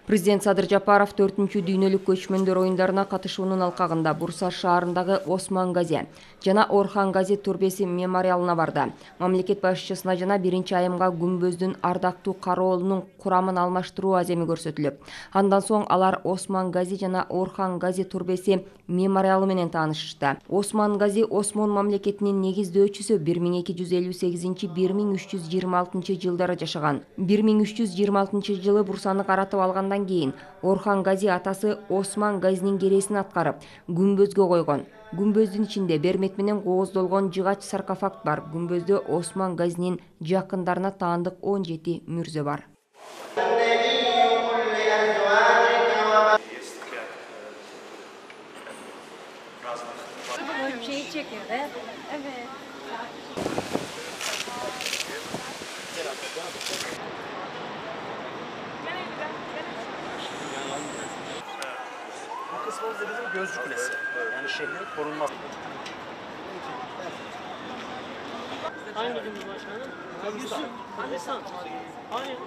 Президент Садыр Жапаров 4-чү дүйнөлүк көчмөндөр оюндарына катышуунун алкагында Бурса шаарындагы Осман Гази жана Орхан Гази түрбеси мемориалына барды. Мамлекет башчысына жана 1-айымга күмбөздүн ардактуу кароолунун курамын алмаштыруу аземи көрсөтүлүп, андан соң алар Осман Гази жана Орхан Гази түрбеси мемориалы менен таанышышты. Осман Гази Осмон мамлекетинин негиздөөчүсү 1226-1326 жылдары жашаган. 1326 жылы Бурсаны каратып алгандан кийин Орхан Гази атасы Осман Газинин кересин аткарып, күмбөзгө койгон. Күмбөздүн ичинде бермек менен кооздолгон жыгач саркофаг бар. Күмбөздө Осман Газинин жакындарына таандык 17 мүрзө бар. Bu kısmımız da bizim Gözcü Kulesi. Yani şehrin korunması. Hangi gün başkanım? Yusuf, Hanisan. Hayır.